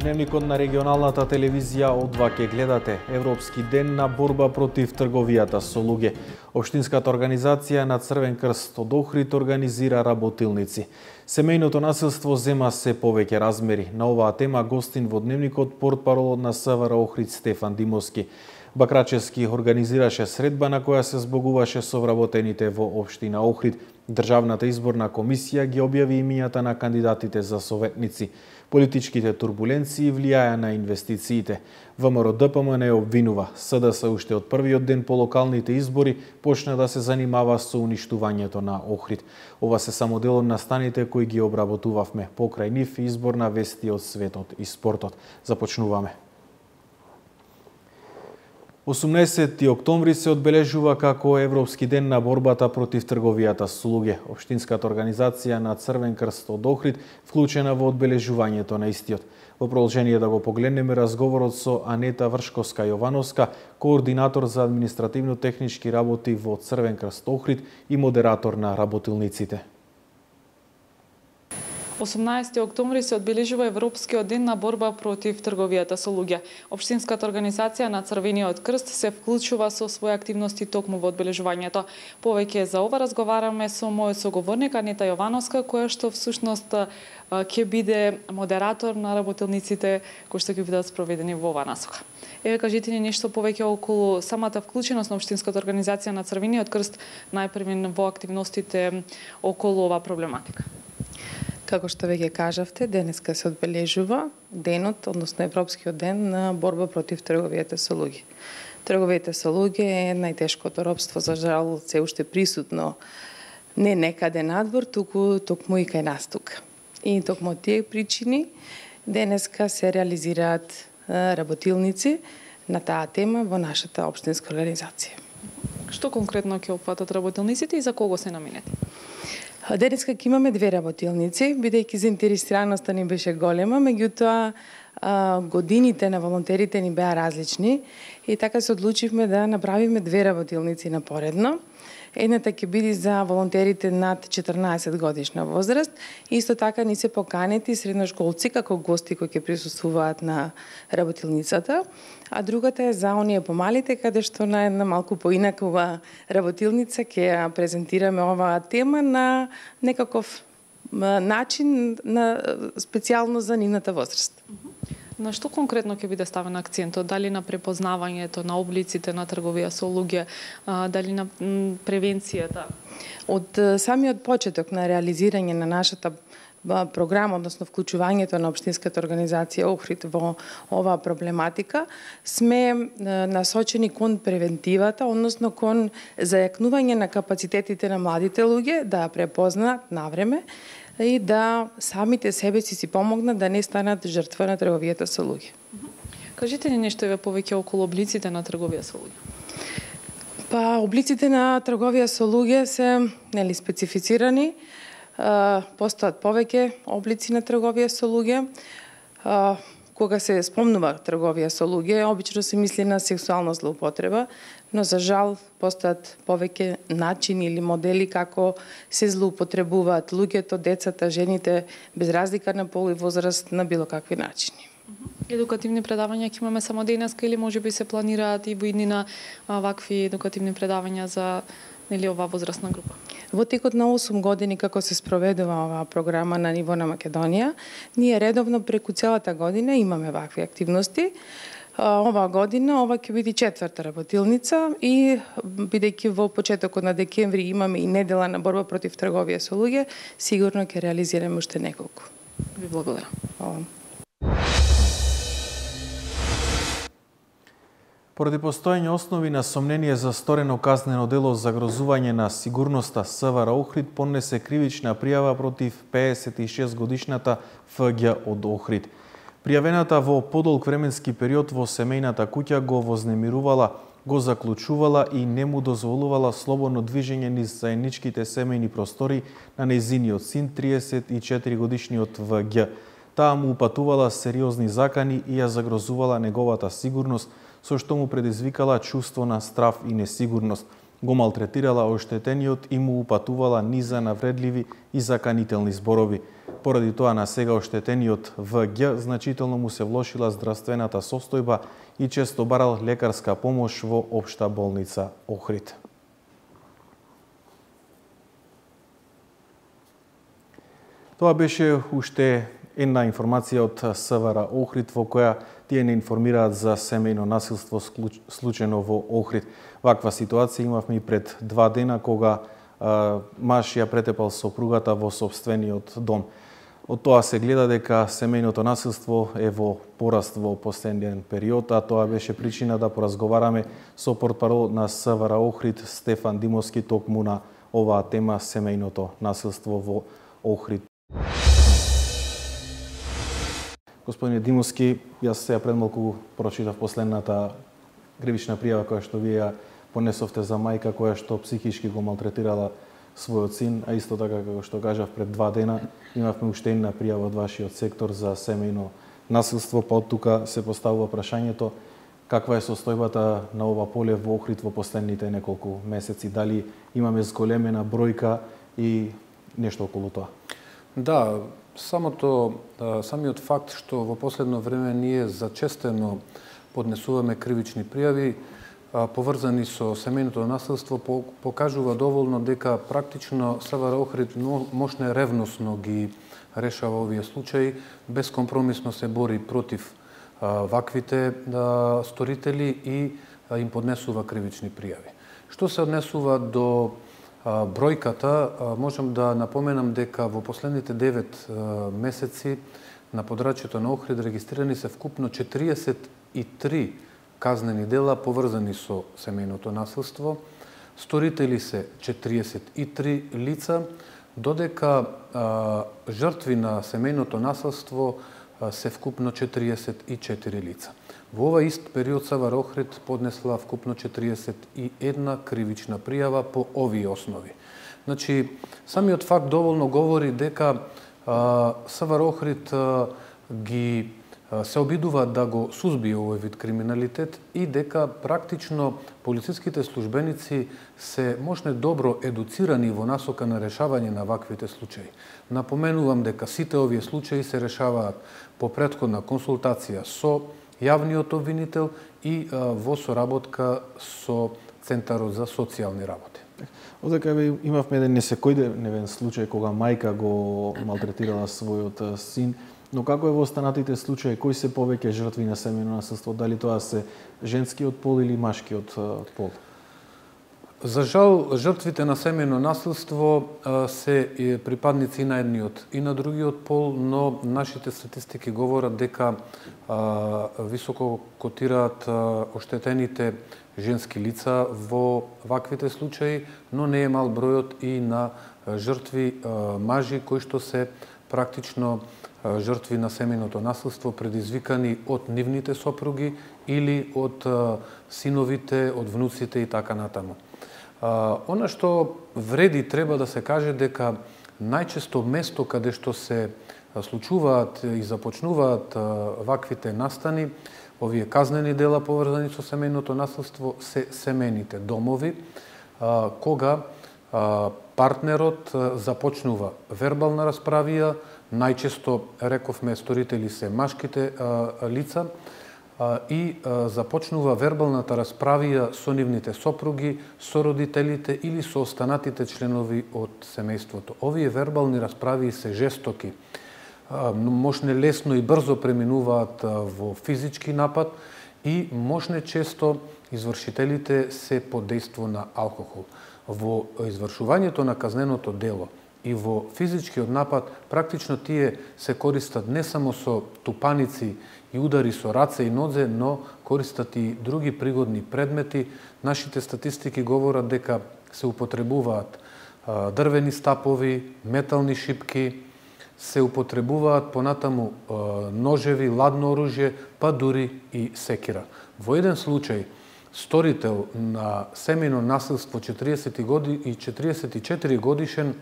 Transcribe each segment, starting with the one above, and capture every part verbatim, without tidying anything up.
Дневникот на регионалната телевизија од два ке гледате Европски ден на борба против трговијата со луѓе. Општинската организација на Црвен крст од Охрид организира работилници. Семејното насилство зема се повеќе размери. На оваа тема гостин во Дневникот портпаролот на СВР Охрид Стефан Димовски. Бакрачевски организираше средба на која се збогуваше со вработените во општина Охрид. Државната изборна комисија ги објави имињата на кандидатите за советници. Политичките турбуленции влијаја на инвестициите. ВМРО Д П М не обвинува. С Д С уште од првиот ден по локалните избори почна да се занимава со уништувањето на Охрид. Ова се само дел од настаните кои ги обработувавме. Покрај нив изборна вести од светот и спортот. Започнуваме. осумнаесети октомври се одбележува како Европски ден на борбата против трговијата со луѓе. Општинската организација на Црвен крст од Охрид вклучена во одбележувањето на истиот. Во продолжение да го погледнеме разговорот со Анета Вршковска-Јовановска, координатор за административно-технички работи во Црвен крст Охрид и модератор на работилниците. осумнаесети октомври се одбележува Европскиот ден на борба против трговијата со луѓе. Општинската организација на Црвениот крст се вклучува со своји активности токму во одбележувањето. Повеќе за ова разговараме со мојот соговорник Анета Јовановска, која што всушност ќе биде модератор на работилниците кои што ќе бидат спроведени во оваа насока. Еве, кажете ни нешто повеќе околу самата вклученост на Општинската организација на Црвениот крст, најпрвен во активностите околу оваа проблематика. Како што веќе кажавте, денеска се одбележува денот, односно Европскиот ден на борба против трговијата со луѓе. Трговијата со луѓе е најтешкото робство, за жал, се уште присутно не некаде надвор, туку токму и кај нас тука. И токму од тие причини денеска се реализираат работилници на таа тема во нашата општинска организација. Што конкретно ќе опфатат работилниците и за кого се наменети? Денеска ќе имаме две работилници, бидејќи заинтересираноста ни беше голема, меѓутоа годините на волонтерите ни беа различни и така се одлучивме да направиме две работилници напоредно. Едната ќе биде за волонтерите над четрнаесет годишна возраст. Исто така ни се поканети средношколци како гости кои ќе присуствуваат на работилницата, а другата е за оние помалите, каде што на една малку поинакова работилница ќе ја презентираме оваа тема на некаков начин, на специјално за нивната возраст. На што конкретно ќе биде ставен акцентот? Дали на препознавањето на облиците на трговија со луѓе, дали на превенцијата? Од самиот почеток на реализирање на нашата програма, односно вклучувањето на Општинската организација Охрид во оваа проблематика, сме насочени кон превентивата, односно кон зајакнување на капацитетите на младите луѓе да ја препознаат навреме и да самите себе си си помогнат да не станат жртва на трговијата со луѓе. Кажете ни нешто еве повеќе околу облиците на трговија со луѓе. Па, облиците на трговија со луѓе се нели специфицирани. Постојат повеќе облици на трговија со луѓе. Кога се спомнува трговија со луѓе, обично се мисли на сексуална злоупотреба, но за жал постојат повеќе начини или модели како се злоупотребуваат луѓето, децата, жените, без разлика на пол и возраст, на било какви начини. Едукативни предавања ќе имаме само денеска или можеби се планираат и во иднина вакви едукативни предавања за нели оваа возрастна група? Во текот на осум години како се спроведува оваа програма на ниво на Македонија, ние редовно преку целата година имаме вакви активности. Оваа година ова ќе биде четврта работилница и бидејќи во почетокот на декември имаме и недела на борба против трговија со луѓе, сигурно ќе реализираме уште неколку. Ви благодарам. Ова. Поради постоење основи на сомнение за сторено казнено дело за загрозување на сигурноста, СВР Охрид поднесе кривична пријава против пеесет и шест годишната Ф Ѓ од Охрид. Пријавената во подолг временски период во семејната куќа го вознемирувала, го заклучувала и не му дозволувала слободно движење низ заедничките семејни простори на нејзиниот син, триесет и четири годишниот В Ѓ. Таа му упатувала сериозни закани и ја загрозувала неговата сигурност, со што му предизвикала чувство на страв и несигурност. го малтретирала оштетениот и му упатувала низа навредливи и заканителни зборови. Поради тоа на сега оштетениот В Г значително му се влошила здравствената состојба и често барал лекарска помош во Општа болница Охрид. Тоа беше уште една информација од СВР Охрид во која тие не информираат за семејно насилство случено во Охрид. Ваква ситуација имавме и пред два дена кога а, маж ја претепал сопругата во сопствениот дом. Од тоа се гледа дека семејното насилство е во пораст во последниот период, а тоа беше причина да поразговараме со портпарол на СВР Охрид Стефан Димовски токму на оваа тема семејното насилство во Охрид. Господине Димовски, јас сега пред малку прочитав последната кривична пријава која што вие ја понесовте за мајка која што психички го малтретирала својот син, а исто така како што кажав пред два дена имавме уште една пријава од вашиот сектор за семејно насилство, па од тука се поставува прашањето каква е состојбата на ова поле во Охрид во последните неколку месеци, дали имаме зголемена бројка и нешто околу тоа? Да, самото, самиот факт што во последно време ние зачестено поднесуваме кривични пријави поврзани со семејното насилство покажува доволно дека практично СВР Охрид мощно ревносно ги решава овие случаи, безкомпромисно се бори против ваквите сторители и им поднесува кривични пријави. Што се однесува до бројката, можам да напоменам дека во последните девет месеци на подрачјето на Охрид регистрирани се вкупно четириесет и три казнени дела поврзани со семејното насилство. Сторители се четириесет и три лица, додека а, жртви на семејното насилство а, се вкупно четириесет и четири лица. Во ова ист период СВР Охрид поднесла вкупно четириесет и една кривична пријава по овие основи. Значи, самиот факт доволно говори дека а, СВР Охрид а, ги се обидува да го сузбие овој вид криминалитет и дека практично полициските службеници се можне добро едуцирани во насока на решавање на ваквите случаи. Напоменувам дека сите овие случаи се решаваат по претходна консултација со јавниот обвинител и а, во соработка со Центарот за социјални работи. Одека имавме еден несекојдневен случај кога мајка го малтретирала својот син. Но како е во останатите случаи, кои се повеќе жртви на семејно насилство? Дали тоа се женскиот пол или машкиот пол? За жал, жртвите на семејно насилство се припадници и на едниот и на другиот пол, но нашите статистики говорат дека високо котираат оштетените женски лица во ваквите случаи, но не е мал бројот и на жртви мажи кои што се практично жртви на семејното насилство предизвикани од нивните сопруги или од синовите, од внуците и така натаму. Она што вреди треба да се каже дека најчесто место каде што се случуваат и започнуваат ваквите настани, овие казнени дела поврзани со семејното насилство се семејните домови, кога партнерот започнува вербална расправија, најчесто, рековме, сторители се машките а, лица а, и а, започнува вербалната расправија со нивните сопруги, со родителите или со останатите членови од семејството. Овие вербални расправии се жестоки, а, можне лесно и брзо преминуваат а, во физички напад и можне често извршителите се под дејство на алкохол. Во извршувањето на казненото дело и во физичкиот напад, практично тие се користат не само со тупаници и удари со раце и нозе, но користат и други пригодни предмети. Нашите статистики говорат дека се употребуваат дрвени стапови, метални шипки, се употребуваат понатаму ножеви, ладно оружје, па дури и секира. Во еден случај, сторител на семејно насилство четириесет и четири годишен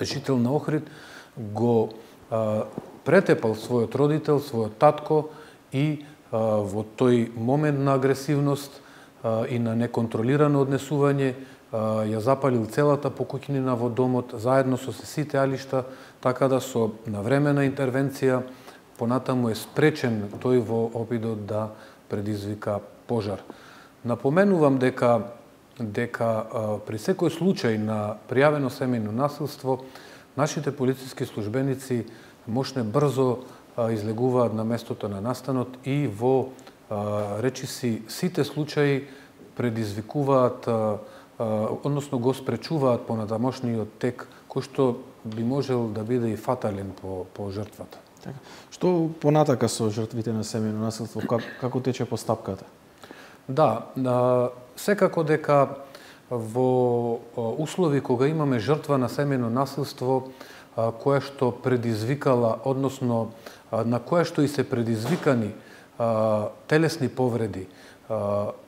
жител на Охрид го а, претепал својот родител, својот татко и а, во тој момент на агресивност и на неконтролирано однесување, ја запалил целата покуќнина во домот, заедно со сите алишта, така да со навремена интервенција понатаму е спречен тој во обидот да предизвика пожар. Напоменувам дека дека при секој случај на пријавено семејно насилство, нашите полициски службеници мошне брзо излегуваат на местото на настанот и во речиси сите случаи предизвикуваат, односно го спречуваат понатамошниот тек, кој што би можел да биде и фатален по, по жртвата. Така. Што понатака со жртвите на семејно насилство? Как, како тече постапката? Да, секако дека во услови кога имаме жртва на семејно насилство, која што предизвикала, односно на која што и се предизвикани телесни повреди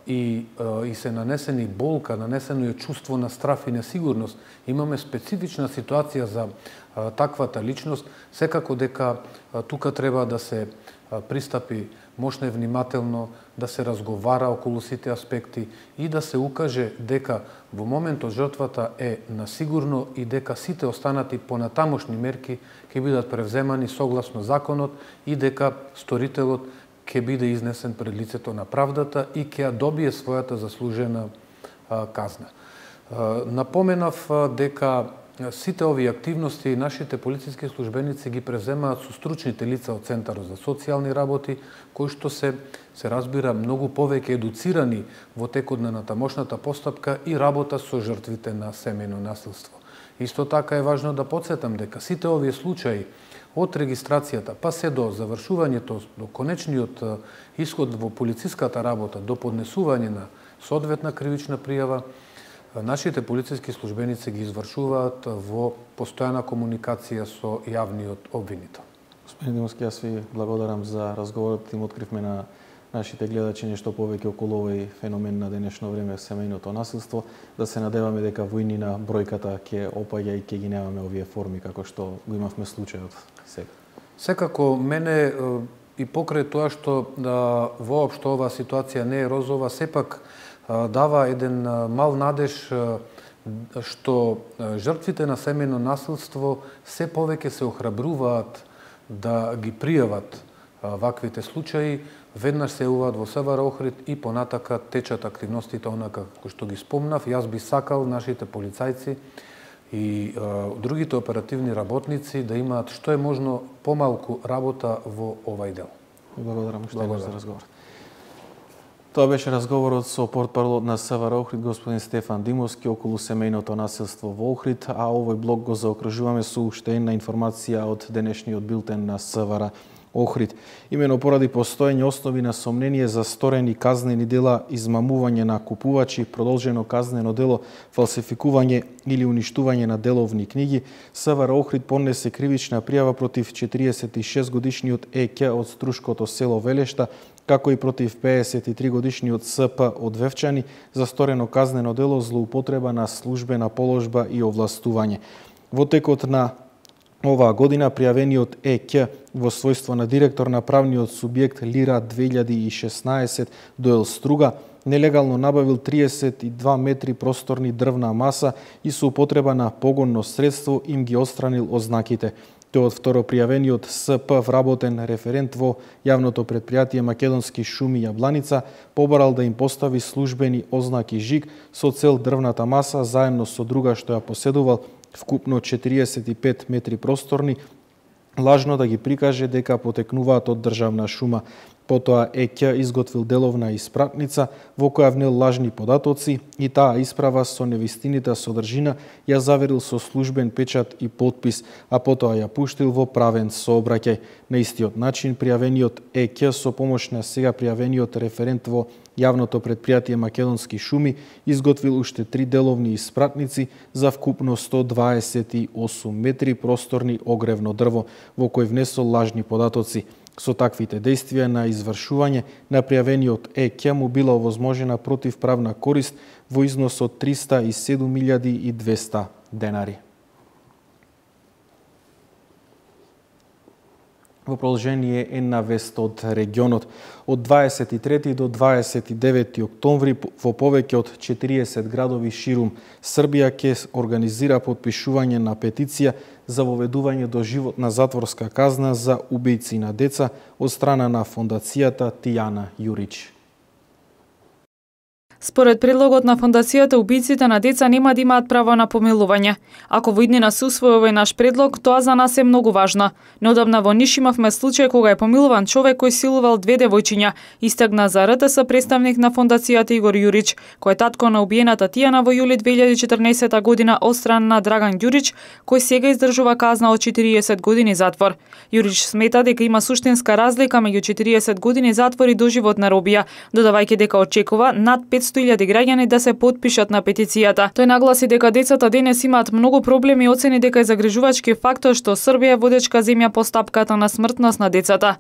и, и се нанесени болка, нанесено е чувство на страф и несигурност, имаме специфична ситуација за таквата личност, секако дека тука треба да се пристапи мошне внимателно, да се разговара околу сите аспекти и да се укаже дека во моментот жртвата е на сигурно и дека сите останати понатамошни мерки ќе бидат превземани согласно законот и дека сторителот ќе биде изнесен пред лицето на правдата и ќе ја добие својата заслужена казна. Напоменав дека сите овие активности нашите полициски службеници ги преземаат со стручните лица од Центарот за социјални работи, кои што се се разбира многу повеќе едуцирани во текот на натамошната постапка и работа со жртвите на семејно насилство. Исто така е важно да потсетам дека сите овие случаи од регистрацијата па се до завршувањето, до конечниот исход во полициската работа, до поднесување на соодветна кривична пријава, нашите полициски службеници ги извршуваат во постојана комуникација со јавниот обвинител. Господин Димовски, јас ви благодарам за разговорот. Им откривме на нашите гледачи нешто повеќе околу овој феномен на денешно време, семејното насилство. Да се надеваме дека во иднина бројката ќе опаѓа и ќе ги немаме овие форми како што го имавме случајот сега. Секако мене и покрај тоа што да, воопшто оваа ситуација не е розова, сепак дава еден мал надеж што жртвите на семејно насилство се повеќе се охрабруваат да ги пријават ваквите случаи, веднаш се јавуваат во СВР Охрид и понатака течат активностите онака кои што ги спомнав. Јас би сакал нашите полицајци и другите оперативни работници да имаат што е можно помалку работа во овај дел. Благодарам уште еднаш за разговор. Тоа беше разговорот со портпаролот на СВР Охрид, господин Стефан Димовски, околу семејното насилство во Охрид, а овој блок го заокружуваме со уште една информација од денешниот билтен на СВР Охрид. Имено поради постоење основи на сомнение за сторени казнени дела, измамување на купувачи, продолжено казнено дело, фалсификување или уништување на деловни книги, СВР Охрид поднесе кривична пријава против четириесет и шест годишниот Е Ќ од Струшкото село Велешта, како и против пеесет и три годишниот С П од Вевчани за сторено казнено дело злоупотреба на службена положба и овластување. Во текот на оваа година пријавениот Е Ќ во својство на директор на правниот субјект Лира две илјади и шеснаесет до Елструга нелегално набавил триесет и два метри просторни дрвна маса и со употреба на погонно средство им ги отстранил ознаките. Тој од второ пријавениот С П вработен референт во јавното предпријатие Македонски шуми Јабланица побарал да им постави службени ознаки жиг со цел дрвната маса заедно со друга што ја поседувал вкупно четириесет и пет метри просторни, лажно да ги прикаже дека потекнуваат од државна шума. Потоа Е Ќ изготвил деловна испратница во која внел лажни податоци и таа исправа со невистинита содржина ја заверил со службен печат и подпис, а потоа ја пуштил во правен сообраќај. На истиот начин пријавениот Е Ќ со помош на сега пријавениот референт во јавното предпријатие Македонски шуми изготвил уште три деловни испратници за вкупно сто дваесет и осум метри просторни огревно дрво, во кој внесол лажни податоци. Со таквите действија на извршување на пријавениот Е Ќ му била овозможена противправна корист во износ од триста и седум илјади и двесте денари. во продолжение една вест од регионот. Од дваесет и трети до дваесет и девети октомври во повеќе од четириесет градови ширум Србија ќе организира потпишување на петиција за воведување до животна затворска казна за убијци на деца од страна на фондацијата Тијана Јурич. Според предлогот на фондацијата, убијците на деца нема да имаат право на помилување. Ако во иднина се усвои овој наш предлог, тоа за нас е многу важно. Неодамна во Ниш имавме случај кога е помилуван човек кој силувал две девојчиња, истакна за р т с представник на фондацијата Игор Јурич, кој е татко на убиената Тијана во јули две илјади и четрнаесета година од страна на Драган Ѓурич, кој сега издржува казна од четириесет години затвор. Јурич смета дека има суштинска разлика меѓу четириесет години затвор и доживотна робија, додавајќи дека очекува над петсто илјади граѓани да се потпишат на петицијата. Тој нагласи дека децата денес имаат многу проблеми и оцени дека е загрижувачки фактор што Србија е водечка земја по стапката на смртност на децата.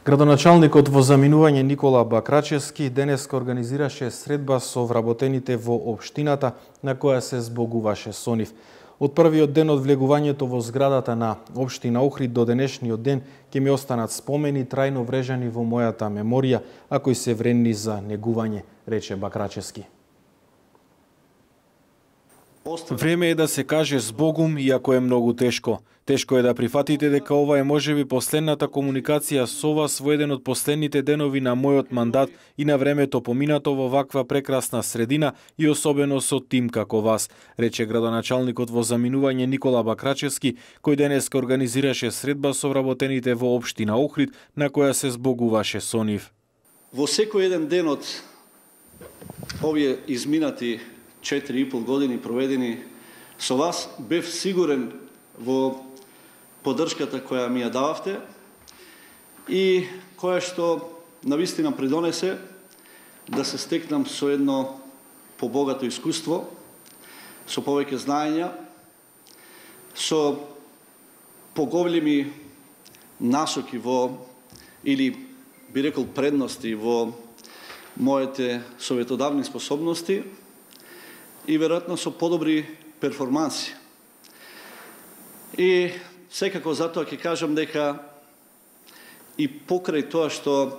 Градоначалникот во заминување Никола Бакрачевски денеска организираше средба со вработените во општината на која се збогуваше со нив. Од првиот ден од влегувањето во зградата на општина Охрид до денешниот ден ќе ми останат спомени трајно врежани во мојата меморија, а кои се вредни за негување, рече Бакрачевски. Време е да се каже збогум, иако е многу тешко. Тешко е да прифатите дека ова е можеби последната комуникација со вас во еден од последните денови на мојот мандат и на времето поминато во ваква прекрасна средина и особено со тим како вас, рече градоначалникот во заминување Никола Бакрачевски, кој денеска организираше средба со вработените во општина Охрид, на која се збогуваше со нив. Во секој еден ден од овие изминати четири и пол години проведени со вас, бев сигурен во поддршката која ми ја дававте и која што навистина придонесе да се стекнам со едно побогато искуство, со повеќе знаења, со поголеми насоки во, или би рекол предности во моите советодавни способности и веројатно со подобри перформанси. И секако затоа ќе кажам дека и покрај тоа што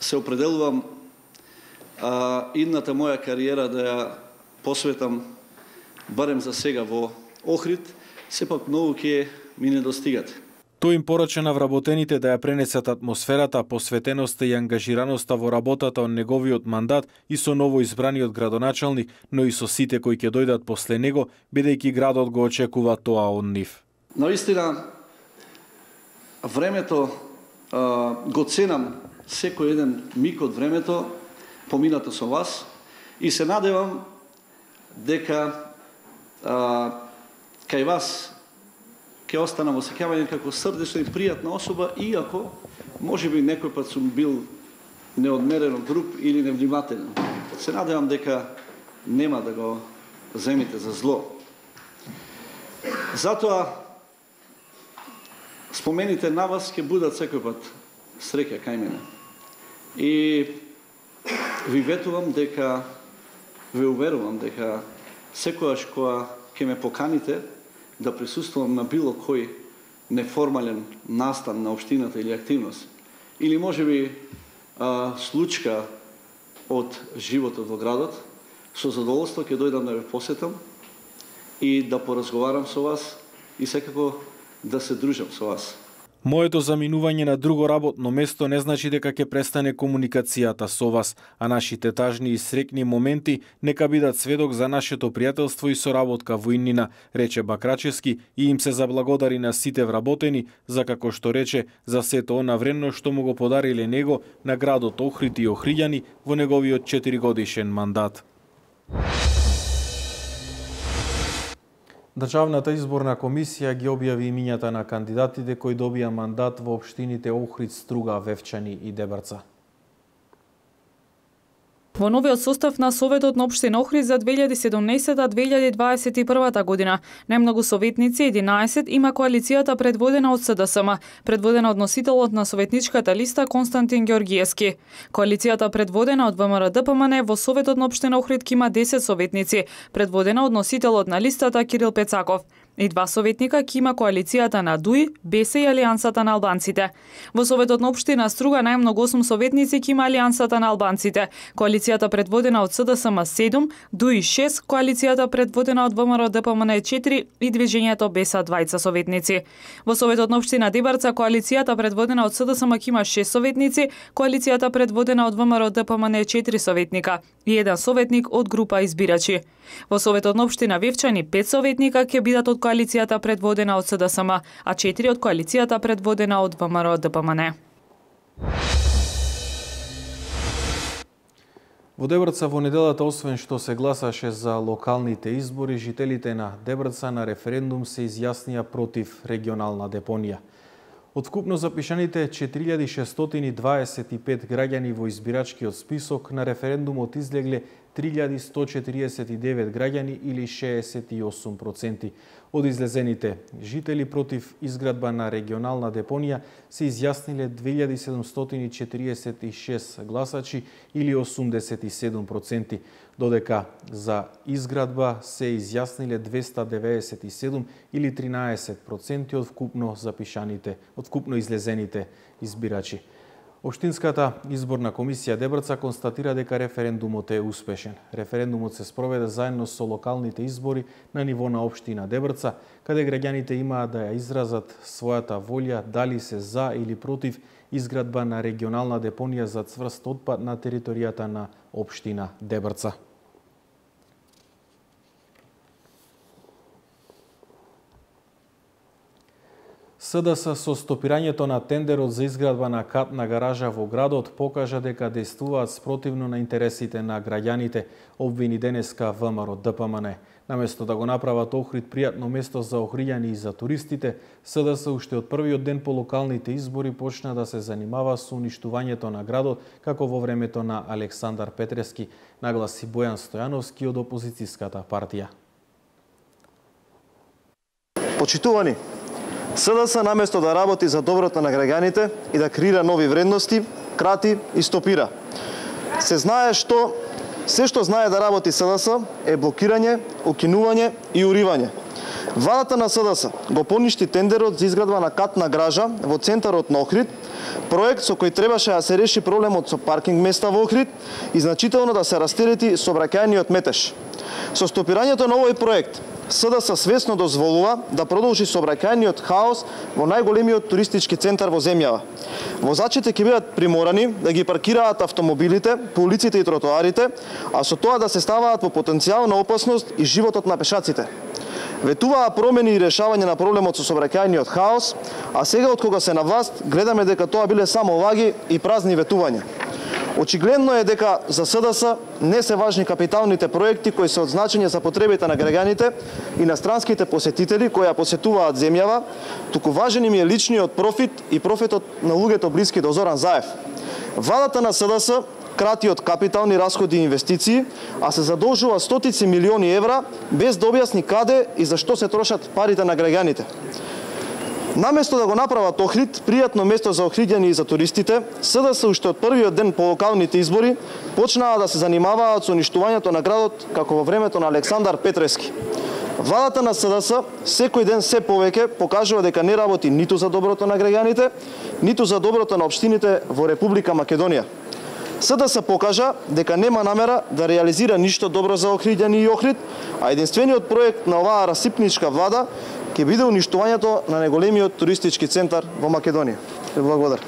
се определувам а, идната моја кариера да ја посветам барем за сега во Охрид, сепак многу ќе ми недостигате. Тој им порача на вработените да ја пренесат атмосферата, посветеноста и ангажираноста во работата од неговиот мандат и со ново избраниот градоначалник, но и со сите кои ќе дојдат после него, бидејќи градот го очекува тоа од нив. Наистина, времето а, го ценам секој еден миг од времето поминато со вас и се надевам дека а, кај вас ќе остана во сеќавање како срдечна и пријатна особа, иако можеби некој пат сум бил неодмерено груб или невнимателен. Се надевам дека нема да го земите за зло. Затоа спомените на вас ќе будат секој пат среќа кај мене. И ви ветувам дека, ве уверувам дека секојаш кога ќе ме поканите да присуствувам на било кој неформален настан на општината или активност, или можеби а, случка од животот во градот, со задоволство ќе дојдам да ве посетам и да поразговарам со вас и секако да се дружам со вас. Моето заминување на друго работно место не значи дека ќе престане комуникацијата со вас, а нашите тажни и среќни моменти нека бидат сведок за нашето пријателство и соработка во иднина, рече Бакрачевски и им се заблагодари на сите вработени за, како што рече, за сето она вредно што му го подариле него на градот Охрид и охриѓани во неговиот четиригодишен мандат. Државната изборна комисија ги објави имињата на кандидатите кои добија мандат во општините Охрид, Струга, Вевчани и Дебрца. Во новиот состав на Советот на општина Охрид за две илјади и седумнаесета - две илјади дваесет и прва година, најмногу советници, единаесет, има коалицијата предводена од С Д С М, предводена од носителот на советничката листа Константин Ѓоргиевски. Коалицијата предводена од В М Р Д П М Н во Советот на општина Охрид има десет советници, предводена од носителот на листата Кирил Пецаков. и два советника ќе има коалицијата на ДУИ, БЕСЕ и Алијансата на албанците. Во Советот на општина Струга најмногу осум советници ќе има Алијансата на албанците, коалицијата предводена од СДСМ седум, ДУИ шест, коалицијата предводена од ВМРО ДПМН четири и движењето БЕСА двајца советници. Во Советот на општина Дебарца коалицијата предводена од СДСМ ќе има шест советници, коалицијата предводена од ВМРО ДПМН четири советника и еден советник од група избирачи. Во Советот на општина Вевчани пет советника ќе бидат од коалицијата предводена од СДСМ, а четири од коалицијата предводена од ВМРО ДПМН. Во Дебрца во неделата, освен што се гласаше за локалните избори, жителите на Дебрца на референдум се изјаснија против регионална депонија. Од вкупно запишаните четири илјади шестстотини дваесет и пет граѓани во избирачкиот список, на референдумот излегле три илјади сто четириесет и девет граѓани или шеесет и осум проценти. Од излезените жители против изградба на регионална депонија се изјасниле две илјади седумстотини четириесет и шест гласачи или осумдесет и седум проценти, додека за изградба се изјасниле двеста деведесет и седум или тринаесет проценти од вкупно запишаните, од вкупно излезените избирачи. Општинската изборна комисија Дебрца констатира дека референдумот е успешен. Референдумот се спроведе заедно со локалните избори на ниво на општина Дебрца, каде граѓаните имаат да ја изразат својата волја дали се за или против изградба на регионална депонија за цврст отпад на територијата на општина Дебрца. СДС со стопирањето на тендерот за изградба на катна гаража во градот покажа дека действуваат спротивно на интересите на граѓаните, обвини денеска ВМРО ДПМН. Наместо да го направат Охрид пријатно место за охриѓани и за туристите, СДС уште од првиот ден по локалните избори почна да се занимава со уништувањето на градот, како во времето на Александар Петрески, нагласи Бојан Стојановски од опозицијската партија. Почитувани, СДС наместо да работи за доброто на граѓаните и да креира нови вредности, крати и стопира. Се знае што се што знае да работи СДС е блокирање, укинување и уривање. Владата на СДС го поништи тендерот за изградба на катна гража во центарот на Охрид, проект со кој требаше да се реши проблемот со паркинг места во Охрид и значително да се растерети сообраќајниот метеж. Со стопирањето на овој проект, СДС свесно дозволува да продолжи сообраќајниот хаос во најголемиот туристички центар во земјава. Возачите ќе бидат приморани да ги паркираат автомобилите по улиците и тротоарите, а со тоа да се ставаат во потенцијална опасност и животот на пешаците. Ветуваа промени и решавање на проблемот со сообраќајниот хаос, а сега од кога се на власт гледаме дека тоа биле само лаги и празни ветувања. Очигледно е дека за СДС не се важни капиталните проекти кои се од значење за потребите на граѓаните и на странските посетители кои ја посетуваат земјава, туку важен им е личниот профит и профитот на луѓето блиски до Зоран Заев. Владата на СДС крати од капитални расходи и инвестиции, а се задолжува стотици милиони евра без да објасни каде и за што се трошат парите на граѓаните. Наместо да го направат Охрид пријатно место за охриѓани и за туристите, СДС уште од првиот ден по локалните избори почнаа да се занимаваат со уништувањето на градот како во времето на Александар Петрески. Владата на СДС секој ден се повеќе покажува дека не работи ниту за доброто на граѓаните, ниту за доброто на општините во Република Македонија. СДС покажа дека нема намера да реализира ништо добро за охриѓани и Охрид, а единствениот проект на оваа расипничка влада ќе биде уништувањето на најголемиот туристички центар во Македонија. Благодарам.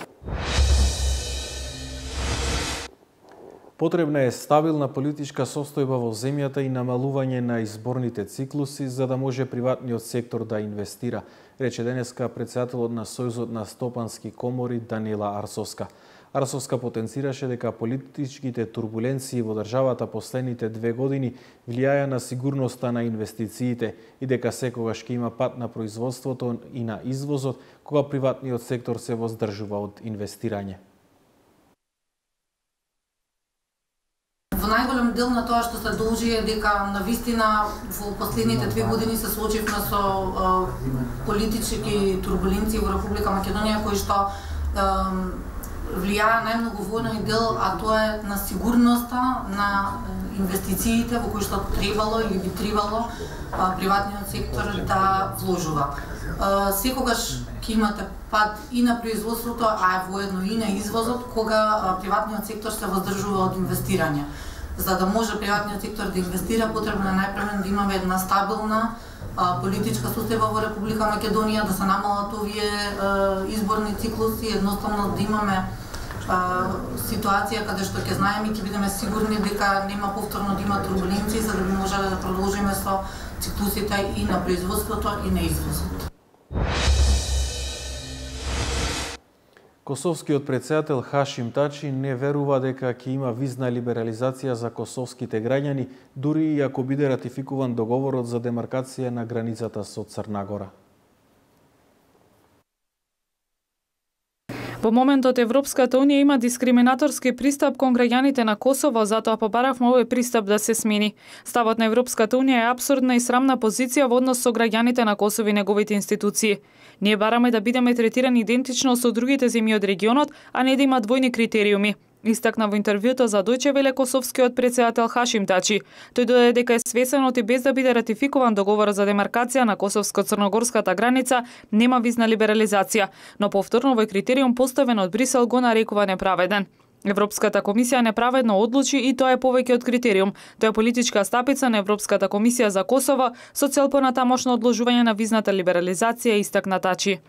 Потребна е стабилна политичка состојба во земјата и намалување на изборните циклуси за да може приватниот сектор да инвестира, рече денеска претседателот на Сојузот на стопански комори Даниела Арсовска. Арсовска потенцираше дека политичките турбуленции во државата последните две години влијаја на сигурноста на инвестициите и дека секогаш ќе има пат на производството и на извозот кога приватниот сектор се воздржува од инвестирање. Во најголем дел на тоа што се должи е дека навистина во последните две години се соочивме со е, политички турбуленции во Република Македонија кои што е, влијае најмногу во оној дел, а тоа е на сигурноста на инвестициите во кои што требало или би требало приватниот сектор да вложува. Секогаш ќе имате пад и на производството, а воедно и на извозот, кога приватниот сектор се воздржува од инвестирање. За да може приватниот сектор да инвестира, потребно е најпрвен да имаме една стабилна политичка состојба во Република Македонија, да се намалат овие изборни циклуси, едноставно да имаме ситуација каде што ќе знаеме и ќе бидеме сигурни дека нема повторно да има турбуленции, за да би можеле да продолжиме со циклусите и на производството и на извозот. Косовскиот претседател Хашим Тачи не верува дека ќе има визна либерализација за косовските граѓани, дури и ако биде ратификуван договорот за демаркација на границата со Црна Гора. Во моментот Европската Унија има дискриминаторски пристап кон граѓаните на Косово, затоа побаравме овој пристап да се смени. Ставот на Европската Унија е апсурдна и срамна позиција во однос со граѓаните на Косово и неговите институции. Ние бараме да бидеме третирани идентично со другите земји од регионот, а не да има двојни критериуми. Истакна во интервјуто за Дојче Веле косовскиот претседател Хашим Тачи. Тој додаде дека е свесен од и без да биде ратификуван договорот за демаркација на косовско-црногорската граница, нема визна либерализација, но повторно овој критериум поставен од Брисел го нарекува неправеден. Европската комисија неправедно одлучи и тоа е повеќе од критериум. Тоа е политичка стапица на Европската комисија за Косово со цел понатамошно одложување на визната либерализација, истакна Тачи.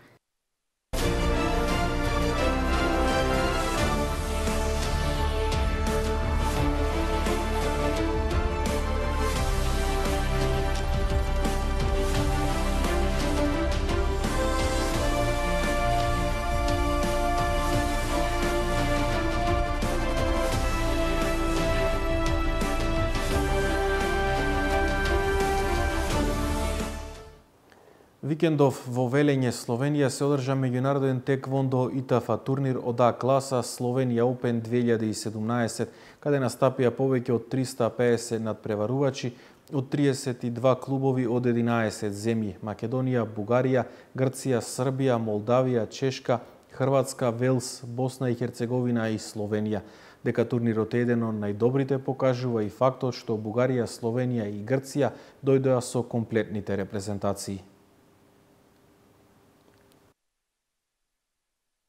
Викендов во Велење, Словенија се одржа меѓународен теквондо ИТАФ турнир од А класа Словенија Open две илјади и седумнаесет, каде настапија повеќе од триста и педесет надпреварувачи од триесет и два клубови од единаесет земји: Македонија, Бугарија, Грција, Србија, Молдавија, Чешка, Хрватска, Велс, Босна и Херцеговина и Словенија. Дека турнирот е еден од најдобрите покажува и фактот што Бугарија, Словенија и Грција дојдоа со комплетните репрезентации.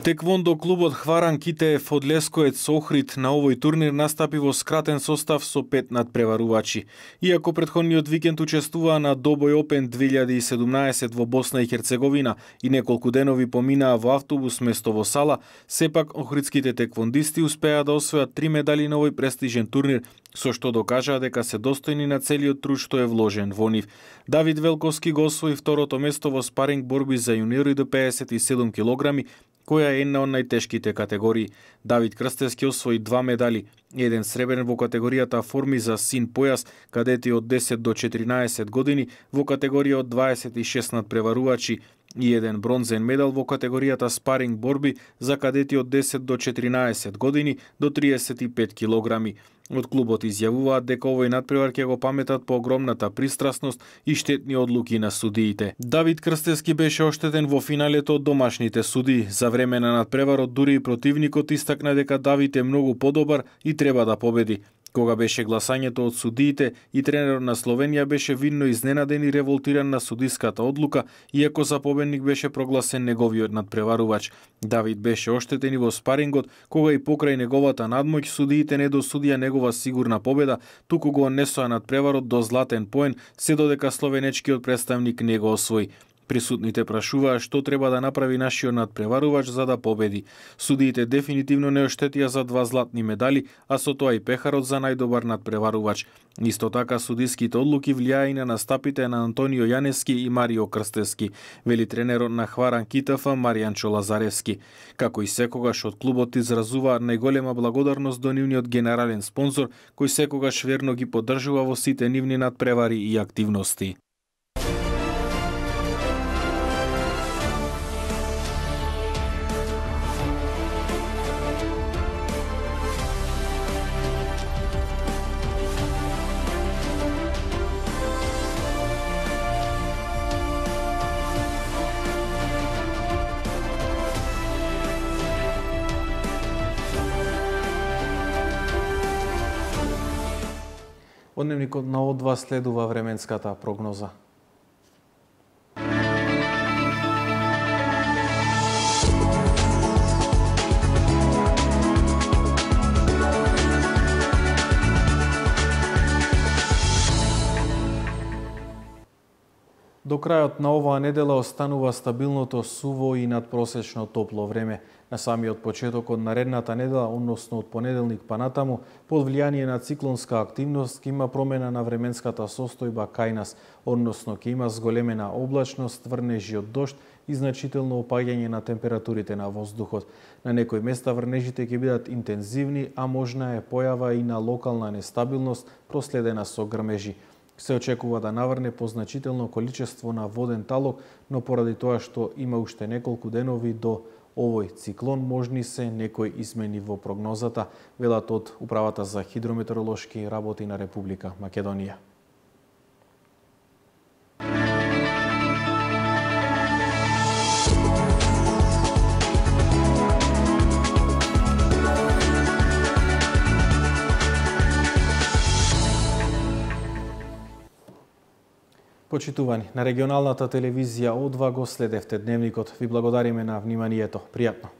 Теквондо клубот Хваран Китеев од Лескоец Охрид на овој турнир настапи во скратен состав со пет надпреварувачи. Иако претходниот викенд учествуваа на Добој Open две илјади и седумнаесет во Босна и Херцеговина и неколку денови поминаа во автобус место во сала, сепак охридските теквондисти успеа да освојат три медали на овој престижен турнир, со што докажаа дека се достојни на целиот труд што е вложен во нив. Давид Велковски го освои второто место во спаринг борби за јуниори до педесет и седум килограми, која е една од најтешките категории. Давид Крстевски освои два медали, еден сребрен во категоријата форми за син појас, кадети од десет до четиринаесет години, во категорија од дваесет и шест надпреварувачи, и еден бронзен медал во категоријата спаринг борби за кадети од десет до четиринаесет години до триесет и пет килограми. Од клубот изјавуваат дека овој надпревар ќе го паметат по огромната пристрасност и штетни одлуки на судиите. Давид Крстевски беше оштетен во финалето од домашните судии. За време на надпреварот дури и противникот истакна дека Давид е многу подобар и треба да победи. Кога беше гласањето од судиите, и тренерот на Словенија беше видно изненаден и револтиран на судиската одлука, иако за победник беше прогласен неговиот надпреварувач. Давид беше оштетен и во спарингот, кога и покрај неговата надмоќ судиите не досудија негова сигурна победа, туку го однесоа надпреварот до златен поен, се додека словенечкиот представник не го освои. Присутните прашуваа што треба да направи нашиот надпреварувач за да победи. Судиите дефинитивно не оштетија за два златни медали, а со тоа и пехарот за најдобар надпреварувач. Исто така судиските одлуки влијаа и на настапите на Антонио Јаневски и Марио Крстевски, вели тренерот на Хваран КиТФ Маријанчо Лазаревски. Како и секогаш од клубот изразуваа најголема благодарност до нивниот генерален спонзор, кој секогаш верно ги поддржува во сите нивни надпревари и активности. Од дневникот на О два следува временската прогноза. До крајот на оваа недела останува стабилното суво и надпросечно топло време. На самиот почеток од наредната недела, односно од понеделник па натаму, под влијание на циклонска активност ќе има промена на временската состојба кај нас, односно ќе има зголемена облачност, врнежи од дожд и значително опаѓање на температурите на воздухот. На некои места врнежите ќе бидат интензивни, а можна е појава и на локална нестабилност проследена со грмежи. Се очекува да наврне позначително количество на воден талок, но поради тоа што има уште неколку денови до овој циклон, можни се некои измени во прогнозата, велат од Управата за хидрометеоролошки работи на Република Македонија. Почитувани, на регионалната телевизија О два го следевте дневникот. Ви благодариме на вниманието. Пријатно.